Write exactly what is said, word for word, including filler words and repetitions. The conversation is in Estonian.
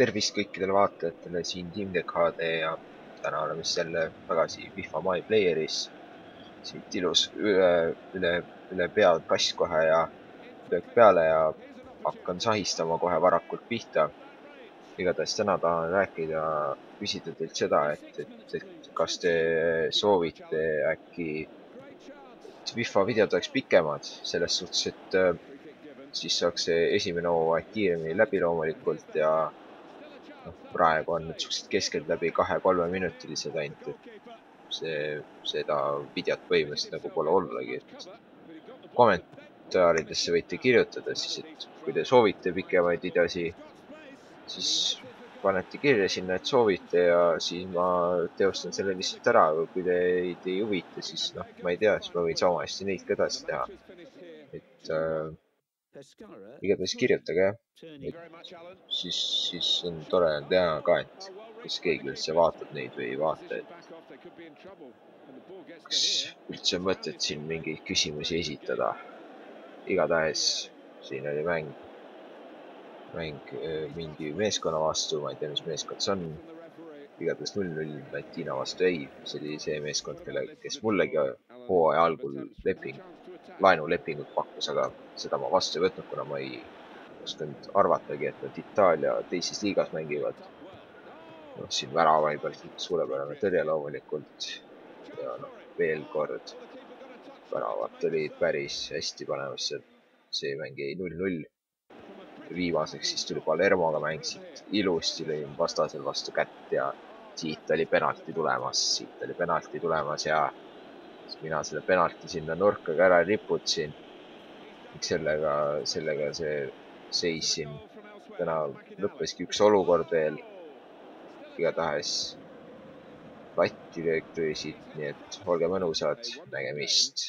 Tervist kõikidele vaatajatele, siin Team D K D ja täna oleme siis jälle tagasi FIFA My Playeris. Siit ilus üle, üle, üle pead kass kohe ja löök peale ja hakkan sahistama kohe varakult pihta. Igatahes täna tahan rääkida, küsida teilt seda, et, et, et kas te soovite äkki, et FIFA videod oleks pikemad, selles suhtes, et siis saaks see esimene hooaeg kiiremini läbi loomulikult ja noh, praegu on need suhteliselt keskelt läbi kahe-kolme minutilised ainult, et see, seda videot põhimõtteliselt nagu pole ollagi, et kommentaaridesse võite kirjutada siis, et kui te soovite pikemaid videosi, siis panete kirja sinna, et soovite ja siis ma teostan selle lihtsalt ära, aga kui teid ei huvita, siis noh, ma ei tea, siis ma võin sama hästi neid ka edasi teha. Et äh, igatahes kirjutage jah, et siis, siis on tore teha ka, et kas keegi üldse vaatab neid või ei vaata, et kas üldse on mõtet siin mingeid küsimusi esitada. Igatahes siin oli mäng, mäng mingi meeskonna vastu, ma ei tea, mis meeskond see on. Igatahes null null Latina vastu ei, see oli see meeskond, kelle, kes mullegi hooaja algul leping, laenulepingut pakkus, aga seda ma vastu ei võtnud, kuna ma ei osanud arvatagi, et nad Itaalia teises liigas mängivad. noh, siin värava ei pealt suurepärane tõrje loomulikult ja noh, veel kord väravad olid päris hästi panemas, see mäng jäi null null. Viimaseks siis tuli Palermoga mäng, siit ilusti lõin vastasel vastu kätt ja siit oli penalti tulemas, siit oli penalti tulemas ja mina selle penalti sinna nurka ka ära riputsin. sellega, sellega see seis siin täna lõppeski üks olukord veel. Igatahes latti löök tõi siit, nii et olge mõnusad, nägemist.